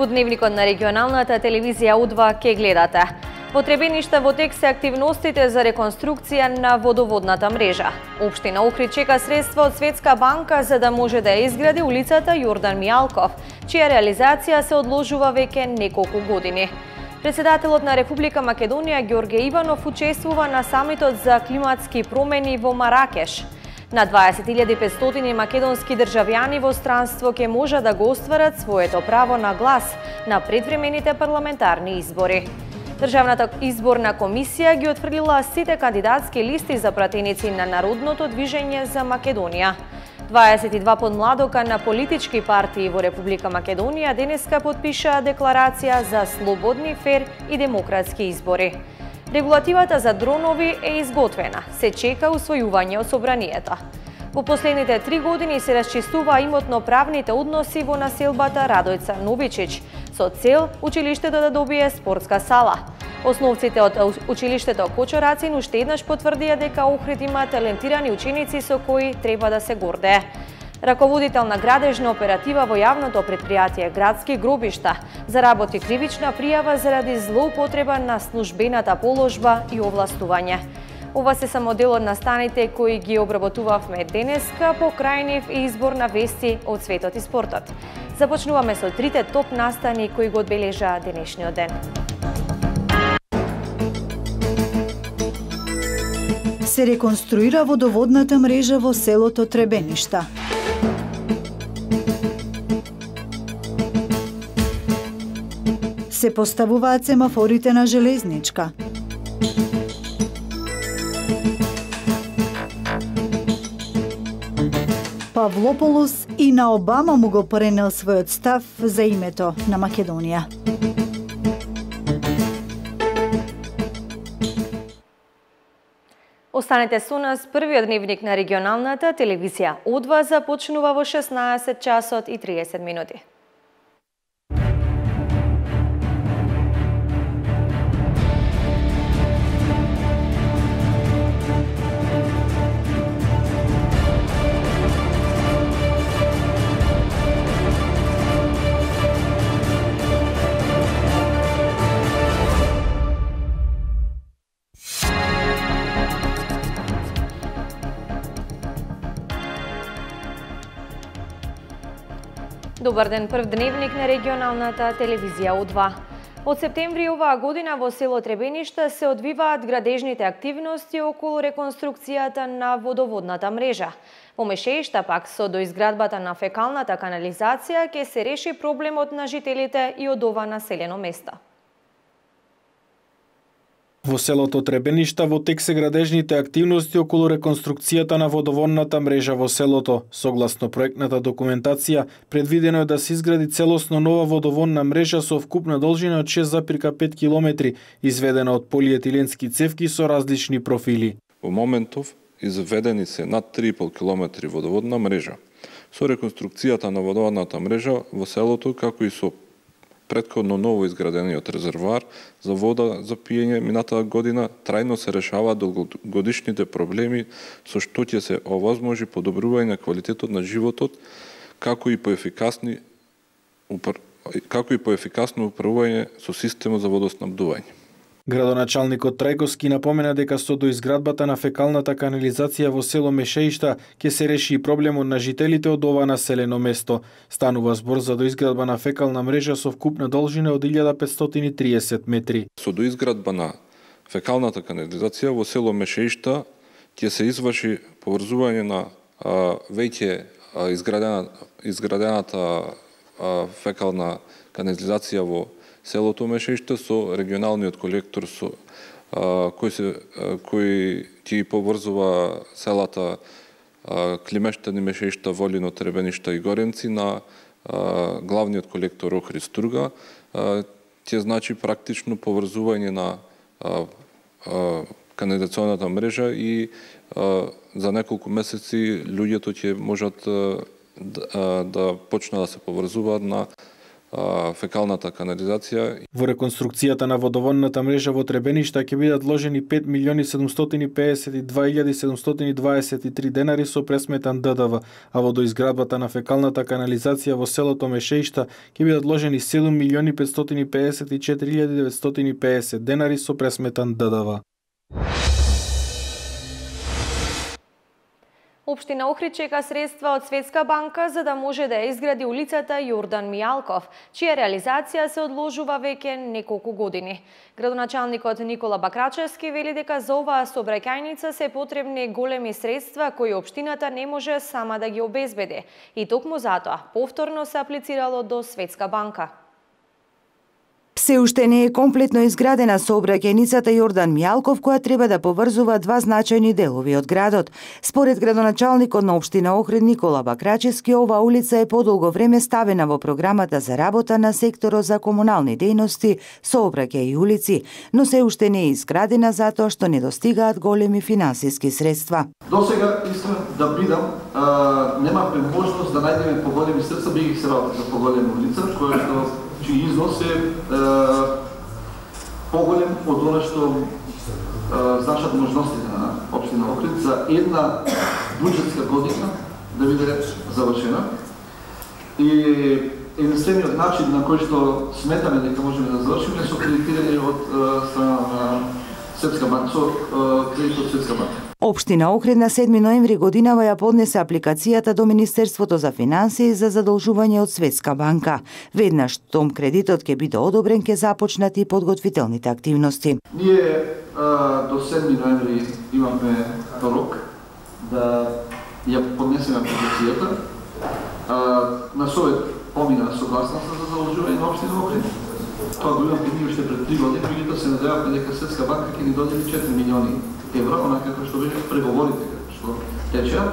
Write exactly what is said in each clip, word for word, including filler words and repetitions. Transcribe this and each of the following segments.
По дневникот на регионалната телевизија У два ке гледате. Во Требениште во тек се активностите за реконструкција на водоводната мрежа. Општина Охрид чека средства од Светска банка за да може да ја изгради улицата Јордан Мијалков, чија реализација се одложува веќе неколку години. Председателот на Република Македонија Ѓорѓе Иванов учествува на самитот за климатски промени во Маракеш. На дваесет илјади и петстотини македонски државјани во странство ќе може да го остварат своето право на глас на предвремените парламентарни избори. Државната изборна комисија ги отфрлила сите кандидатски листи за пратеници на Народното движење за Македонија. дваесет и два подмладока на политички партии во Република Македонија денеска подпишаа декларација за слободни, фер и демократски избори. Регулативата за дронови е изготвена, се чека усвојување од собранието. Во последните три години се расчистуваа имотно-правните односи во населбата Радојца Новичич, со цел училиштето да добие спортска сала. Основците од училиштето Кочорацин уште еднаш потврдија дека Охрид има талентирани ученици со кои треба да се гордее. Раководител на градежна оператива во јавното претпријатие Градски гробишта заработи кривична пријава заради злоупотреба на службената положба и овластување. Ова се само дел од настаните кои ги обработувавме денеска по крајнив и избор на вести од светот и спортот. Започнуваме со трите топ настани кои го одбележаа денешниот ден. Се реконструира водоводната мрежа во селото Требеништа. Се поставуваат семафорите на железничка. Павлополос и на Обама му го пренел својот став за името на Македонија. Останете со нас, првиот дневник на регионалната телевизија У два започнува во шеснаесет часот и триесет минути. Добар ден, прв дневник на регионалната телевизија У два. Од септември оваа година во село Требениште се одвиваат градежните активности околу реконструкцијата на водоводната мрежа. Во Мешеишта пак со доизградбата на фекалната канализација ќе се реши проблемот на жителите и од ова населено место. Во селото Требеништа во тек се градежните активности околу реконструкцијата на водоводната мрежа во селото. Согласно проектната документација, предвидено е да се изгради целосно нова водоводна мрежа со вкупна должина од шест зарез пет километри, изведена од полиетиленски цевки со различни профили. Во моментов изведени се над три и пол километри водоводна мрежа. Со реконструкцијата на водоводната мрежа во селото, како и со претходно ново изградениот резервоар за вода за пиење минатата година, трајно се решаваат долгогодишните проблеми со што ќе се овозможи подобрување на квалитетот на животот, како и поефикасни како и поефикасно управување со системот за водоснабдување. Градоначалникот Трајковски напомена дека со доизградбата на фекалната канализација во село Мешеишта ќе се реши и проблемот на жителите од ова населено место. Станува збор за доизградба на фекална мрежа со вкупна должина од илјада петстотини и триесет метри. Со доизградба на фекалната канализација во село Мешеишта ќе се изврши поврзување на а, веќе а, изградена, изградената а, фекална канализација во селото Мешеиште со регионалниот колектор со а, кој се а, кој ќе поврзува селата а, Климештани, Мешеишта, Волино, Требеништа и Горенци на а, главниот колектор Охрид Струга. А, ќе значи практично поврзување на а, а, канализационната мрежа и а, за неколку месеци луѓето ќе можат а, да, да почнат да се поврзуваат на а, фекалната канализација. Во реконструкцијата на водоводната мрежа во Требеништа ќе бидат вложени пет милиони седумстотини пеесет и две илјади седумстотини дваесет и три денари со пресметан Д Д В, а во доизградбата на фекалната канализација во селото Мешеишта ќе бидат вложени седум милиони петстотини пеесет и четири илјади деветстотини пеесет денари со пресметан Д Д В. Општина Охрид чека средства од Светска банка за да може да ја изгради улицата Јордан Мијалков, чија реализација се одложува веќе неколку години. Градоначалникот Никола Бакрачевски вели дека за оваа сообраќајница се потребни големи средства кои општината не може сама да ги обезбеди. И токму затоа повторно се аплицирало до Светска банка. Се уште не е комплетно изградена сообраќајницата Јордан Мијалков, која треба да поврзува два значајни делови од градот. Според градоначалникот на општина Охрид Никола Бакрачевски, оваа улица е подолго време ставена во програмата за работа на секторот за комунални дејности, сообраќај и улици, но се уште не е изградена затоа што не достигаат големи финансиски средства. До сега, искрен да бидам, немавме можност да најдеме поголеми средства, би ги се работи за поголема улица, која што чиј износ е, е поголем од она што е, значат можностите на општина Охрид за една буџетска година да биде завршена. И единствениот начин на кој што сметаме дека можеме да завршиме е со кредитирање од страна на Светска банка, со кредит од Светска банка. Општина Охрид на седми ноември годинава ја поднесе апликацијата до Министерството за финансии за задолжување од Светска банка. Веднаш том кредитот ќе биде одобрен, ќе започнат и подготвителните активности. Ние а, до седми ноември имаме рок да ја поднесеме апликацијата. А, на совет помина согласност за задолжување на општина Охрид. Тоа го имаме ние уште пред три години, меѓутоа се надевавме дека Светска банка ќе ни додели четири милиони евра, онака како што беше преговорите што течеа,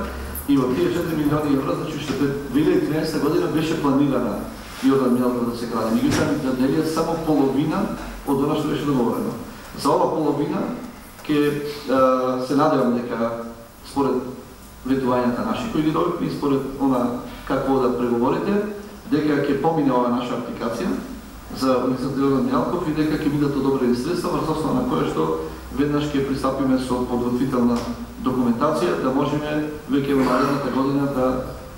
и од тие четири милиони евра, значи уште пред две илјади и тринаесетта година беше планирана Јордан Мијалков да се гради. Меѓутоа ни доделија само половина од она што беше договорено. За ова половина ќе се надевам дека според ветувањата наши кои ги добивме и според она како да преговорите, дека ќе помине ова наша апликација за улицата Јордан Мијалков и дека ќе бидат одобрени средства врз основа на кое што веднаш ќе пристапиме со подготвителна документација да можеме веќе во наредната година да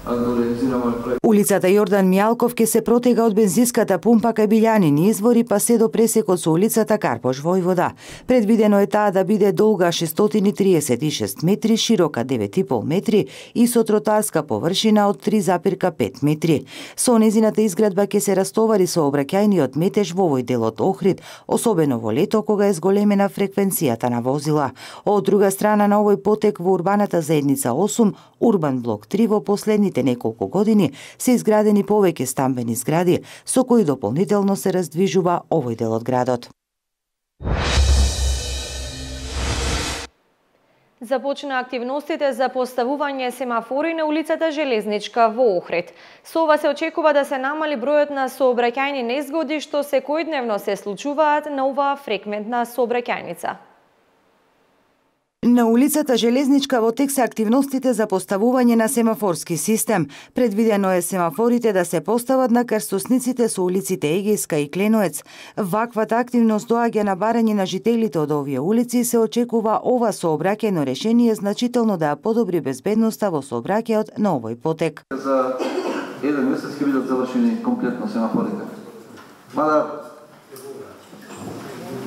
да реализираме овој проект. Улицата Јордан Мијалков ќе се протега од бензинската пумпа кај Билјанини извори па се до пресекот со улицата Карпош Војвода. Предвидено е таа да биде долга шестстотини и триесет и шест метри, широка девет и пол метри и со тротоарска површина од три запирка пет метри. Со незината изградба ќе се растовари сообраќајниот метеж во овој дел од Охрид, особено во лето кога е зголемена фреквенцијата на возила. Од друга страна на овој потек во урбаната заедница осум, Урбан блок три во последните неколку години се изградени повеќе стамбени згради, со кои дополнително се раздвижува овој дел од градот. Започна активностите за поставување семафори на улицата Железничка во Охрид. Со ова се очекува да се намали бројот на сообраќајни незгоди што секојдневно се случуваат на оваа фреквентна сообраќајница. На улицата Железничка во тек се активностите за поставување на семафорски систем. Предвидено е семафорите да се постават на крстосниците со улиците Егејска и Кленоец. Ваквата активност доаѓа на барање на жителите од овие улици и се очекува ова сообраќајно решение значително да ја подобри безбедноста во сообраќајот на овој потек. За еден месец ќе бидат завршени комплетно семафорите. Мада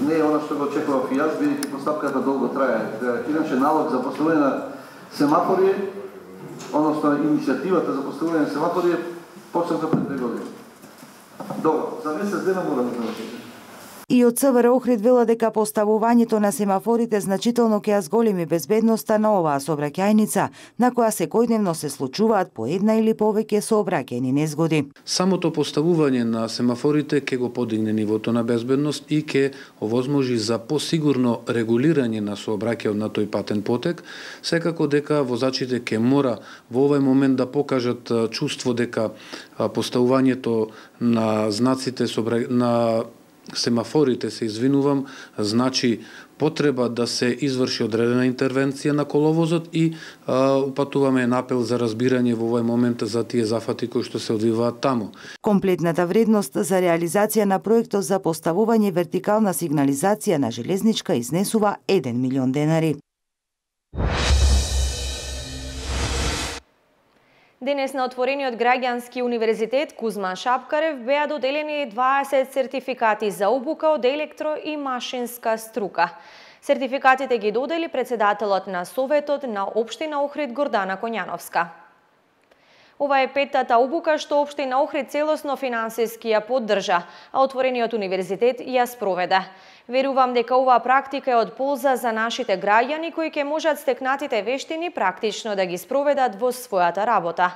не е она што го очекував и јас, бидејќи постапката долго трае. Иначе налог за поставување на семафори, односно иницијативата за поставување на семафори е почната пред две години. Добро, за месец дена мора да завршите. И од Ц В Р Охрид вела дека поставувањето на семафорите значително ќе ја зголеми безбедноста на оваа сообраќајница, на која секојдневно се случуваат по една или повеќе сообраќајни незгоди. Самото поставување на семафорите ќе го подигне нивото на безбедност и ќе овозможи за посигурно регулирање на сообраќајот на тој патен потек, секако дека возачите ќе мора во овој момент да покажат чувство дека поставувањето на знаците на семафорите, се извинувам, значи потреба да се изврши одредена интервенција на коловозот и а, упатуваме апел за разбирање во овој момент за тие зафати кои што се одвиваат таму. Комплетната вредност за реализација на проектот за поставување вертикална сигнализација на железничка изнесува еден милион денари. Денес на отворениот граѓански универзитет Кузман Шапкарев беа доделени дваесет сертификати за обука од електро и машинска струка. Сертификатите ги додели председателот на Советот на Општина Охрид Гордана Коњановска. Ова е петтата обука што Општина Охрид целосно финансиски ја поддржа, а отворениот универзитет ја спроведе. Верувам дека оваа практика е од полза за нашите граѓани кои ќе можат стекнатите вештини практично да ги спроведат во својата работа.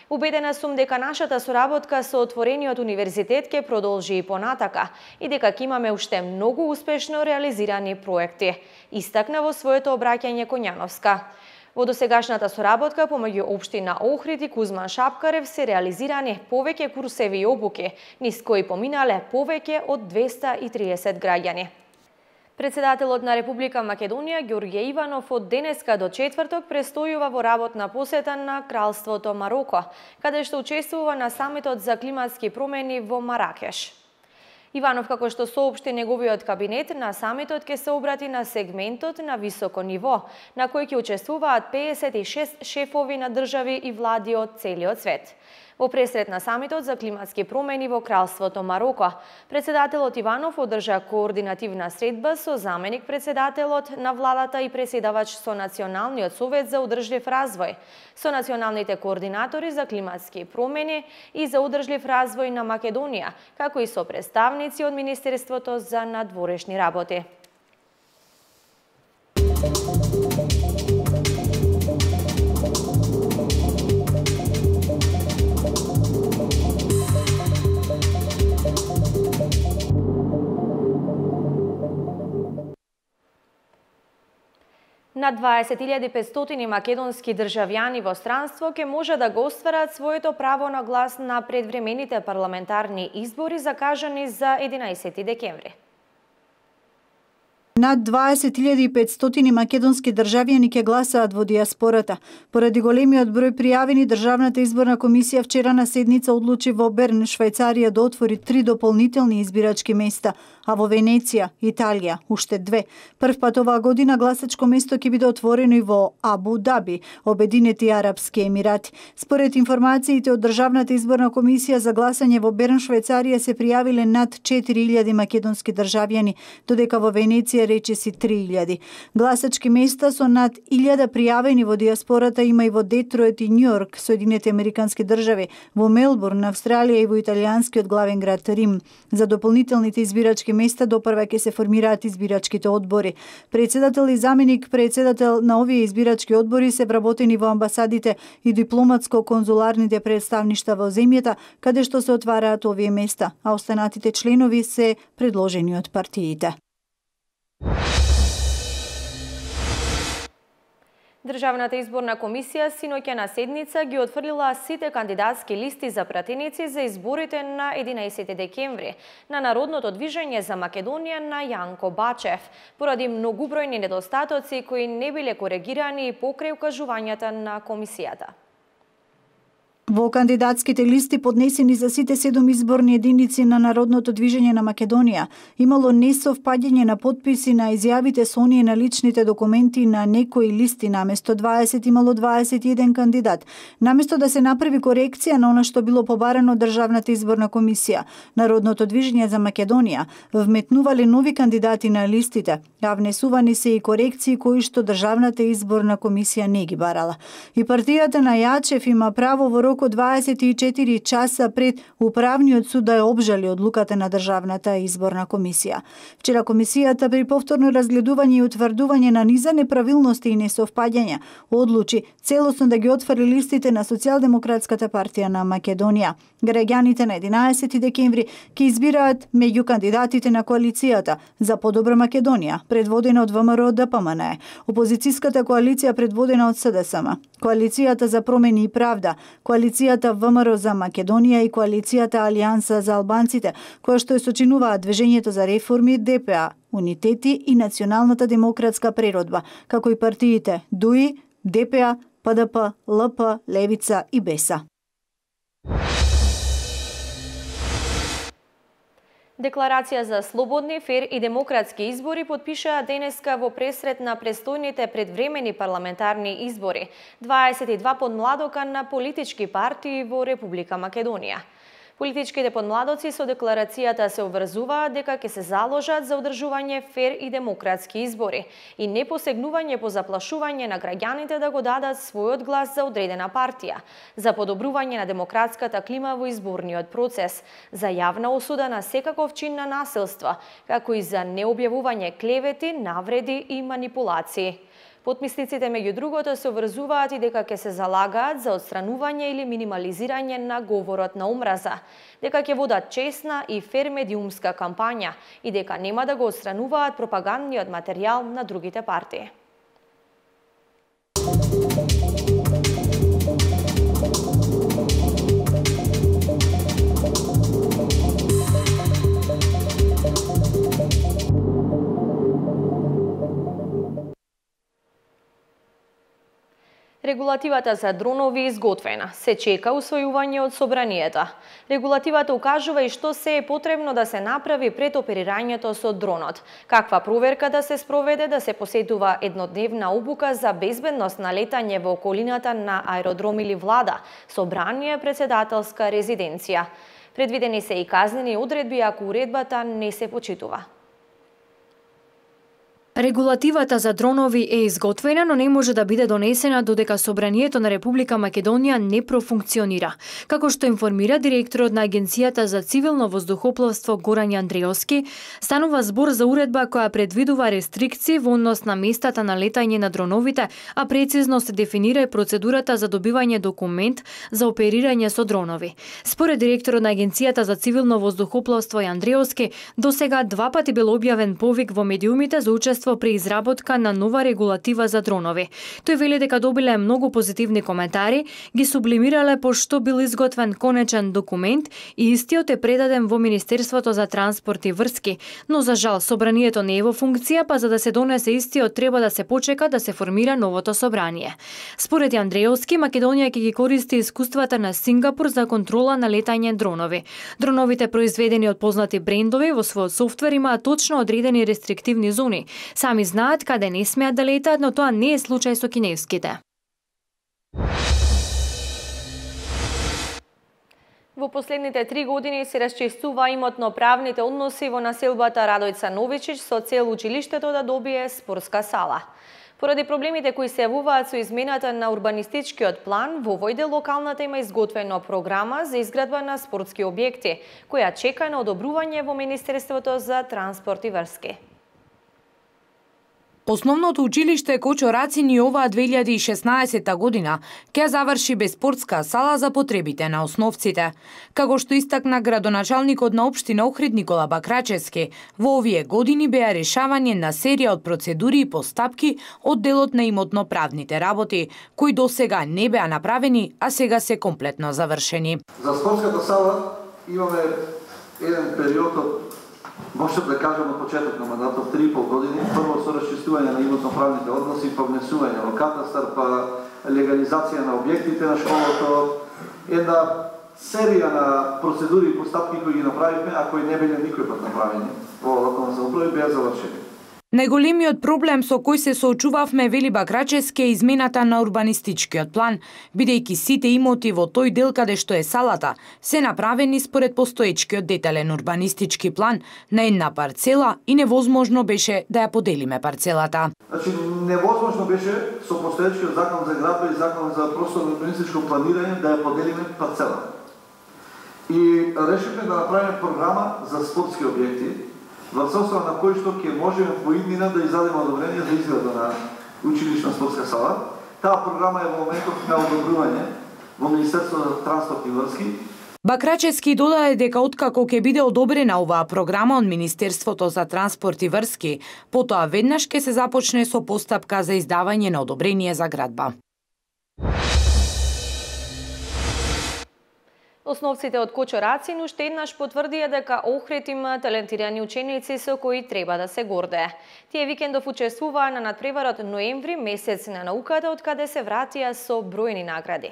Убедена сум дека нашата соработка со отворениот универзитет ќе продолжи и понатака и дека ќе имаме уште многу успешно реализирани проекти, истакна во своето обраќање Коњановска. Во досегашната соработка помеѓу Општина Охрид и Кузман Шапкарев се реализирани повеќе курсеви и обуки, низ кои поминале повеќе од двеста и триесет граѓани. Председателот на Република Македонија Ѓорѓе Иванов од денеска до четврток престојува во работна посета на Кралството Мароко, каде што учествува на самитот за климатски промени во Маракеш. Иванов, како што соопшти неговиот кабинет, на самитот ќе се обрати на сегментот на високо ниво, на кој ќе учествуваат пеесет и шест шефови на држави и влади од целиот свет. Во пресред на самитот за климатски промени во Кралството Мароко, председателот Иванов одржа координативна средба со заменик председателот на владата и преседавач со Националниот совет за одржлив развој, со националните координатори за климатски промени и за одржлив развој на Македонија, како и со представници од Министерството за надворешни работи. Над дваесет илјади и петстотини македонски државјани во странство ќе може да го остварат своето право на глас на предвремените парламентарни избори закажани за единаесети декември. Над дваесет илјади и петстотини македонски државјани ќе гласаат во диаспората. Поради големиот број пријавени, Државната изборна комисија вчера на седница одлучи во Берн, Швајцарија, да отвори три дополнителни избирачки места, а во Венеција, Италија, уште две. Прв пат оваа година гласачко место ќе биде отворено и во Абу Даби, Обединети Арапски Емирати. Според информациите од Државната изборна комисија за гласање во Берн, Швајцарија се пријавиле над четири илјади македонски државјани, додека во Венеција речиси три илјади. Гласачки места со над илјада пријавени во диаспората има и во Детройт и Њујорк, Соединети Американски држави, во Мелбурн, Австралија и во италијанскиот главен град Рим. За дополнителните избирачки места допрва ќе се формираат избирачките одбори. Председател и заменик председател на овие избирачки одбори се вработени во амбасадите и дипломатско-конзуларните представништва во земјата, каде што се отвараат овие места, а останатите членови се предложени од партиите. Државната изборна комисија синоќа на седница ги отфрлила сите кандидатски листи за пратеници за изборите на единаесети декември на Народното движење за Македонија на Јанко Бачев, поради многубројни недостатоци кои не биле коригирани покрај укажувањата на комисијата. Во кандидатските листи поднесени за сите седум изборни единици на Народното движење на Македонија имало несовпаѓање на потписи на изјавите со оние на личните документи на некои листи. Наместо дваесет имало дваесет и еден кандидат. Наместо да се направи корекција на она што било побарано од Државната изборна комисија, Народното движење за Македонија вметнувале нови кандидати на листите, а внесувани се и корекции кои што Државната изборна комисија не ги барала. И партијата на Јачев има право во рок од дваесет и четири часа пред Управниот суд да ја обжали одлуката на Државната изборна комисија. Вчера комисијата при повторно разгледување и утврдување на низа неправилности и несовпаѓања одлучи целосно да ги отвори листите на Социјалдемократската партија на Македонија. Граѓаните на единаесети декември ќе избираат меѓу кандидатите на коалицијата за подобра Македонија, предводена од ВМРО ДПМН, опозицијската коалиција предводена од СДСМ, Коалицијата за промени и правда, Коалицијата ВМРО за Македонија и Коалицијата Алијанса за албанците, која што ја сочинуваат Движењето за реформи, Д П А, Унитети и Националната демократска преродба, како и партиите Д У И, Д П А, П Д П, Л П, Левица и Беса. Декларација за слободни, фер и демократски избори подпишаа денеска во пресрет на престојните предвремени парламентарни избори дваесет и два подмладока на политички партии во Република Македонија. Политичките подмладоци со декларацијата се обврзуваат дека ќе се заложат за одржување фер и демократски избори и не посегнување по заплашување на граѓаните да го дадат својот глас за одредена партија, за подобрување на демократската клима во изборниот процес, за јавна осуда на секаков чин на насилство, како и за необјавување клевети, навреди и манипулации. Потписниците меѓу другото се обврзуваат и дека ќе се залагаат за отстранување или минимализирање на говорот на омраза, дека ќе водат честна и фер медиумска кампања и дека нема да го отстрануваат пропагандниот материјал на другите партии. Регулативата за дронови е изготвена. Се чека усвојување од собранието. Регулативата укажува и што се е потребно да се направи пред оперирањето со дронот. Каква проверка да се спроведе, да се посетува еднодневна обука за безбедност на летање во околината на аеродром или влада, собрание, председателска резиденција. Предвидени се и казнени одредби ако уредбата не се почитува. Регулативата за дронови е изготвена, но не може да биде донесена додека Собранието на Република Македонија не профункционира. Како што информира директорот на Агенцијата за цивилно воздухопловство Горан Андреевски, станува збор за уредба која предвидува рестрикции во однос на местата на летање на дроновите, а прецизно се дефинира и процедурата за добивање документ за оперирање со дронови. Според директорот на Агенцијата за цивилно воздухопловство Андреевски, досега два пати бил објавен повик во медиумите за учество при изработка на нова регулатива за дронови. Тој вели дека добиле многу позитивни коментари, ги сублимирале пошто бил изготвен конечен документ и истиот е предаден во Министерството за транспорт и врски, но за жал собранието не е во функција, па за да се донесе истиот треба да се почека да се формира новото собрание. Според Андреевски, Македонија ќе ги користи искуствата на Сингапур за контрола на летање дронови. Дроновите произведени од познати брендови во својот софтвер имаат точно одредени рестриктивни зони. Сами знаат каде не смеат да летаат, но тоа не е случај со кинеските. Во последните три години се расчистува имотно-правните односи во населбата Радојца Новичич со цел училиштето да добие спортска сала. Поради проблемите кои се јавуваат со измената на урбанистичкиот план, во овој дел локалната има изготвена програма за изградба на спортски објекти, која чека на одобрување во Министерството за транспорт и врски. Основното училиште Кочо Рацини оваа две илјади и шеснаесетта година ќе заврши без спортска сала за потребите на основците. Како што истакна градоначалникот на општина Охрид Никола Бакрачевски, во овие години беа решавање на серија од процедури и постапки од делот на имотно-правните работи, кои досега не беа направени, а сега се комплетно завршени. За спортската сала имаме еден период од, може да кажем, од почеток на мандатот три и пол години, прво со расчистување на имотно-правните односи, па внесување во катастар, па легализација на објектите на школото, една серија на процедури и постапки кои ги направивме, а кои не биле никој пат направени во локална самоуправа, беа завршени. Најголемиот проблем со кој се соочувавме, вели Бакрачевски, е измената на урбанистичкиот план, бидејќи сите имоти во тој дел каде што е салата се направени според постоечкиот детален урбанистички план на една парцела и невозможно беше да ја поделиме парцелата. Значи, невозможно беше со постоечкиот закон за градба и закон за просторно урбанистичко планирање да ја поделиме парцела. И решивме да направиме програма за спортски објекти, во состојба на кој што ќе можеме во иднина да издадеме одобрение за изграда на училишна спортска сала. Таа програма е во моментот на одобрување во Министерството за транспорт и врски. Бакрачевски додаде дека откако ќе биде одобрена оваа програма од Министерството за транспорт и врски, потоа веднаш ќе се започне со постапка за издавање на одобрение за градба. Основците од Кочо Рацин уште еднаш потврдија дека Охрид има талентирани ученици со кои треба да се гордее. Тие викендов учествуваа на надпреварот ноември, месец на науката, од каде се вратија со бројни награди.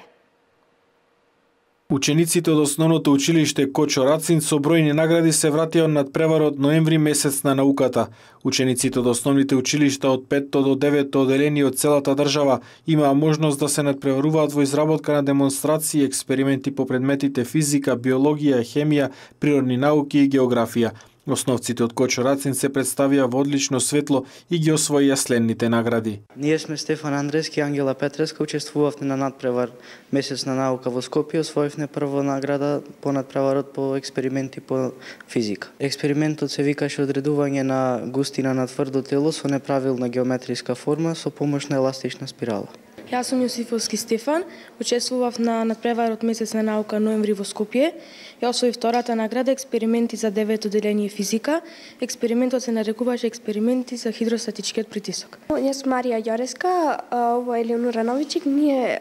Учениците од основното училиште Кочо Рацин со бројни награди се вратија од надпреварот ноември, месец на науката. Учениците од основните училишта од петто до деветто оделени од целата држава имаа можност да се надпреваруваат во изработка на демонстрации и експерименти по предметите физика, биологија, хемија, природни науки и географија. Основците од Кочо Рацин се представија во одлично светло и ги освоија следните награди. Ние сме Стефан Андрески и Ангела Петреска, учествувавме на надпревар Месец на наука во Скопје, освоивме прва награда по надпреварот по експерименти по физика. Експериментот се викаше одредување на густина на тврдо тело со неправилна геометриска форма со помош на еластична спирала. Јас сум Јосифовски Стефан, учествував на надпреварот Месец на наука ноември во Скопје. Ја освоив втората награда експерименти за девето оделение физика. Експериментот се нарекуваше експерименти за хидростатичкиот притисок. Јас сум Марија Јореска, ово е Елеонора Новичик. Ние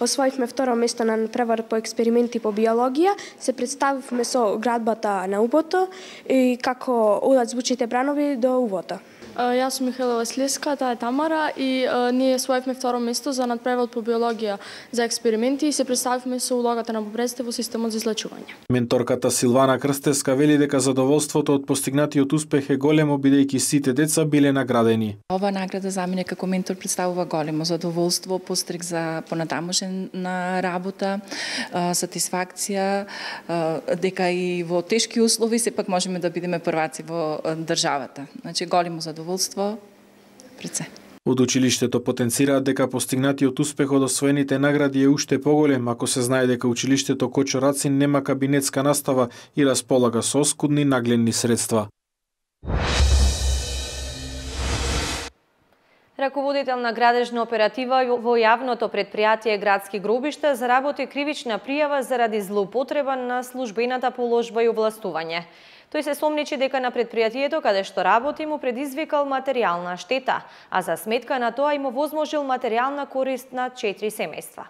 освоивме второ место на надпреварот по експерименти по биологија. Се представивме со градбата на убото и како одат звучните бранови до убото. Јас сум Михаела Василевска, таа е Тамара и а, ние освоивме второ место за надпреварот по биологија за експерименти и се представивме со улогата на бубреците во системот за излечување. Менторката Силвана Крстеска вели дека задоволството од постигнатиот успех е големо бидејќи сите деца биле наградени. Ова награда за мене како ментор представува големо задоволство, пострек за понатамошна работа, сатисфакција, дека и во тешки услови сепак можеме да бидеме прваци во државата. Значи големо задоволство. Пред се. Од училиштето потенцираат дека постигнатиот успех од освоените награди е уште поголем ако се знае дека училиштето Кочо Рацин нема кабинетска настава и располага со оскудни нагледни средства. Раководител на градежна оператива во јавното претпријатие Градски гробишта заработи кривична пријава заради злоупотреба на службената положба и овластување. Тој се сомничи дека на претпријатието каде што работи му предизвикал материјална штета, а за сметка на тоа им овозможил материјална корист на четири семејства.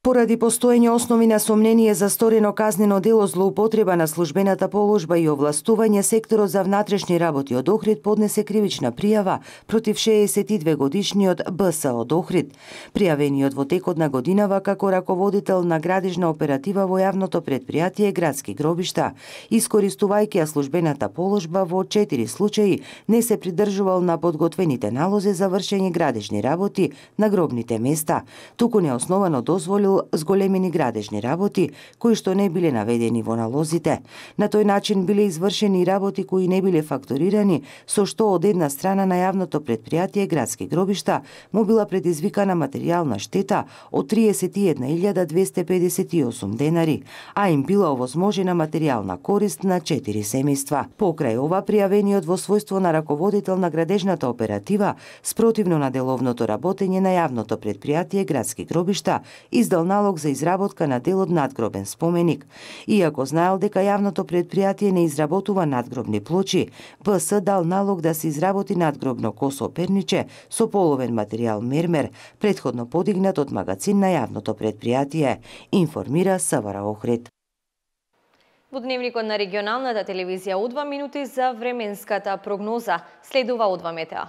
Поради постоење основи на сомнение за сторено казнено дело злоупотреба на службената положба и овластување, секторот за внатрешни работи од Охрид поднесе кривична пријава против шеесет и две годишниот Б С од Охрид. Пријавениот во текот на годинава како раководител на градежна оператива во јавното претпријатие Градски гробишта, искористувајќи ја службената положба во четири случаи, не се придржувал на подготвените налози за вршење градежни работи на гробните места, туку неосновано дозволил зголемени градежни работи кои што не биле наведени во налозите. На тој начин биле извршени работи кои не биле факторирани, со што од една страна на јавното претпријатие Градски гробишта му била предизвикана материјална штета од триесет и една илјада двесте педесет и осум денари, а им била овозможена материјална корист на четири семејства. Покрај ова, пријавениот во својство на раководител на градежната оператива, спротивно на деловното работење на јавното претпријатие Градски гробишта, издал налог за изработка на дел од надгробен споменик. Иако знаел дека јавното претпријатие не изработува надгробни плочи, Б С дал налог да се изработи надгробно косо перниче со половен материјал мермер, претходно подигнат од магазин на јавното претпријатие, информира С В Р Охрид. Во дневникот на регионалната телевизија О два минути за временската прогноза. Следува О два метео.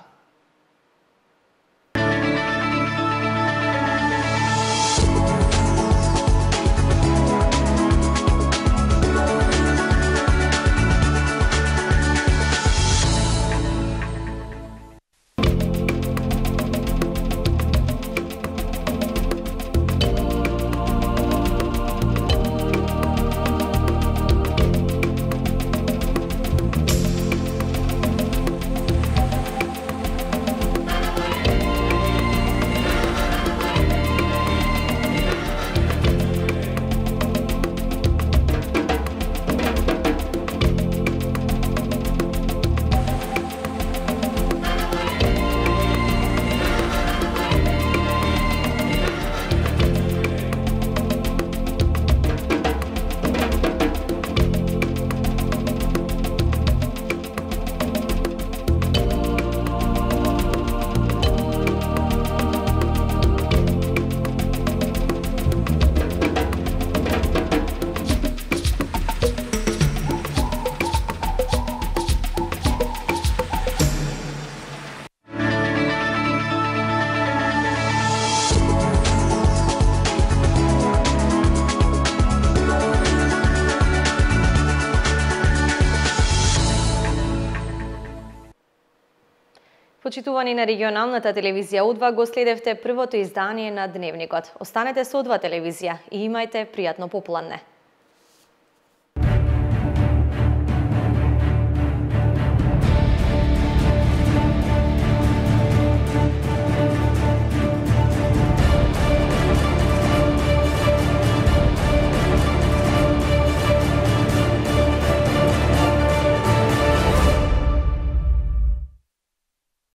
почитувани на регионалната телевизија О два, го следевте првото издание на Дневникот. Останете со О два телевизија и имајте пријатно попладне.